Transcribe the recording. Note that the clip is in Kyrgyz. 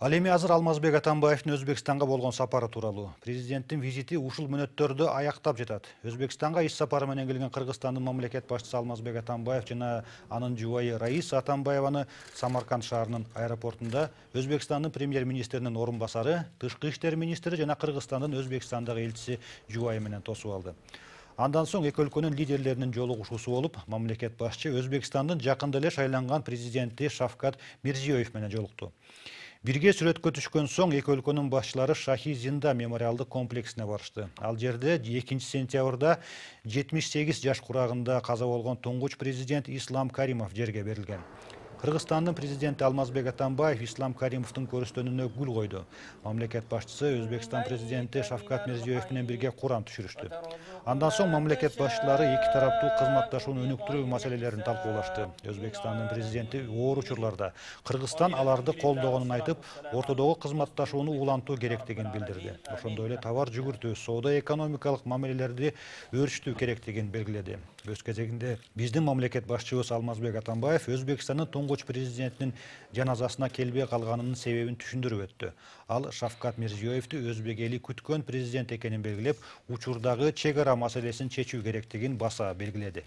Ал эми азыр Алмазбек Атамбаевдин Өзбекстанга болгон сапары тууралуу. Президенттин визити ушул мүнөттөрдө аяктап жатат. Өзбекстанга иш сапары менен келген Кыргызстандын мамлекет башчысы Алмазбек Атамбаев жана анын жубайы Раиса Атамбаеваны Самарканд шаарынын аэропортунда Өзбекстандын премьер-министринин орун басары, тышкы иштер министри жана Кыргызстандын Өзбекстандагы элчиси жубайы менен тосуп алды. Андан соң эки өлкөнүн лидерлеринин жолугушуусу болуп, мамлекет башчы Өзбекстандын жакында эле шайланган президенти Шавкат Мирзиёев менен жолукту. Бирге сүрөткө түшкөн соң эки өлкөнүн башчылары Шахи Зинда мемориалдык комплексине барышты. Ал жерде 2 сентябрда 78 жаш курагында каза болгон туңгуч президент Ислам Каримов жерге берилген. Кыргызстандын президенти Алмазбек Атамбаев Ислам Каримовдун көрүстөнүнө гүл койду. Мамлекет башчысы Өзбекстан президенти Шавкат Мирзиёев менен бирге Куран түшүрүштү. Андан соң мамлекет башчылары эки тараптуу кызматташууну өнүктүрүү маселелерин талкуулашты. Өзбекстандын президенти оор учурларда Кыргызстан аларды колдогонун айтып, ортодогу кызматташууну улантуу керектигин билдирди. Ошондой эле товар жүгүртүү, соода-экономикалык мамилелерди өөрчүтүү керектигин белгиледи. Өз кезегинде биздин мамлекет башчыбыз Алмазбек Атамбаев Өзбекстандын туңгуч президентинин жаназасына келбей калганынын себебин түшүндүрүп өттү. Ал Шавкат Мирзиёевди өзбек эли күткөн президент экенин белгилеп, учурдагы чек ара маселесин чечүү керектигин баса белгиледи.